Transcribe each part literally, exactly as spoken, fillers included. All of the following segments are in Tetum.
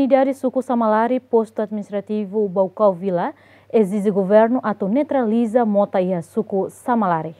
Komunidade suku Samalari, postu administrativu Baucau Vila, ezije governu atu neutraliza mota iha suku Samalari.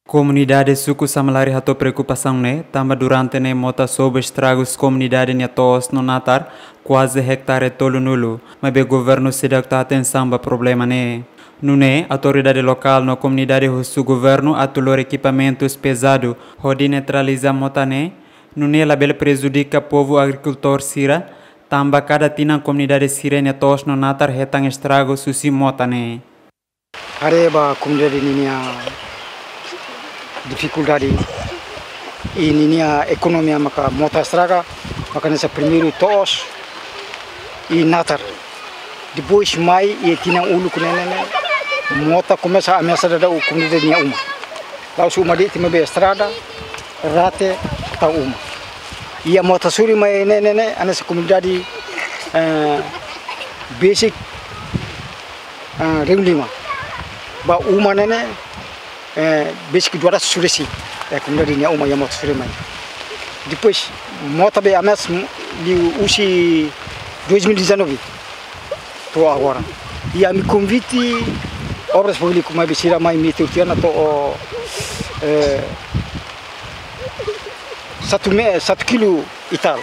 Komunidade suku Samalari hato'o preokupasaun ne'e, tanba durante ne'e mota sobu estragus komunidade nia to'os no natar kuaze ektare tolunulu, maibé governu seidauk tau atensaun ba problema ne'e. Nune'e, autoridade lokál no komunidade husu governu atu lori ekipamentus pezadu hodi neutraliza mota ne'e, nune'e labele prejudika povu agrikultór sira, tanba kada tinan komunidade sira-nia to'os no natar hetan estragus husi mota ne'e. Haree ba komunidade ninia difikuldade, i ninia ekonomia maka mota estraga, maka hanesan primeiru to'os i natar. Depois mai iha tinan uluk ne'e ne'e, mota komesa ameasa daudaun komunidade nia uma. La'ós uma de'it, maibé estrada, rate, tau uma. Iha mota suri mai ne'e ne'e ne'e, hanesan komunidade, eh, besik, eh, rihun lima. Ba uma ne'e ne'e, eh, besik dua ratus suri si, eh, komunidade nia uma iha mota suri mai. Depois, mota be ameasa liu husi dois mil e dezanove to'o agora. I ami konvite Obras Públikas maibé sira mai meter tiha ona to'o, eh, satu me-, satu kilo e tal.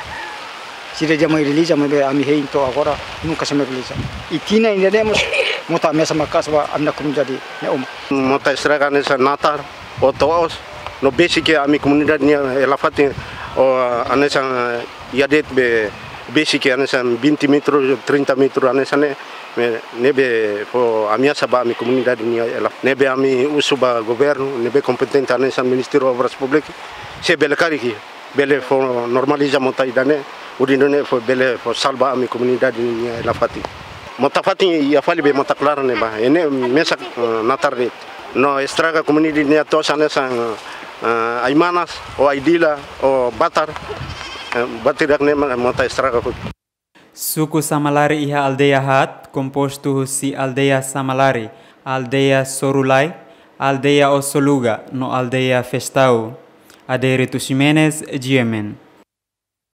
Sira dehan mai realiza, maibé ami hein to'o agora nunka sei mai realiza. I tinan ida-ne'e mós mota ameasa maka'as ba ami-nia komunidade nia uma. Mota estraga hanesan natar, ou to'os, no besik ami komunidade nia hela fatin, ou hanesan iha de'it be besik hanesan vinte metru, trinta metru hanesan ne'e, ne'ebé fó ameasa ba ami komunidade nia hela. Ne'ebé ami husu ba governu, ne'ebé kompetente hanesan Ministériu Obras Públikas, se bele karik, bele fó normaliza mota ida-ne'e, hodi nune'e fó bele fó salva ami komunidade nia hela fatin. Mota fatin iha fali be mota klaran ne'e ba. Ne'e mesak, eh, natar de'it. No estraga komunidade nia to'os hanesan, eh, ai-manas, ou ai-dila, ou batar, eh, batar ida-ne'e mota estraga hotu. Suku Samalari iha aldeia haat, kompostu husi aldeia Samalari, aldeia Sorulai, aldeia Osoluga, no aldeia Festau. Adérito Ximenes, G M N.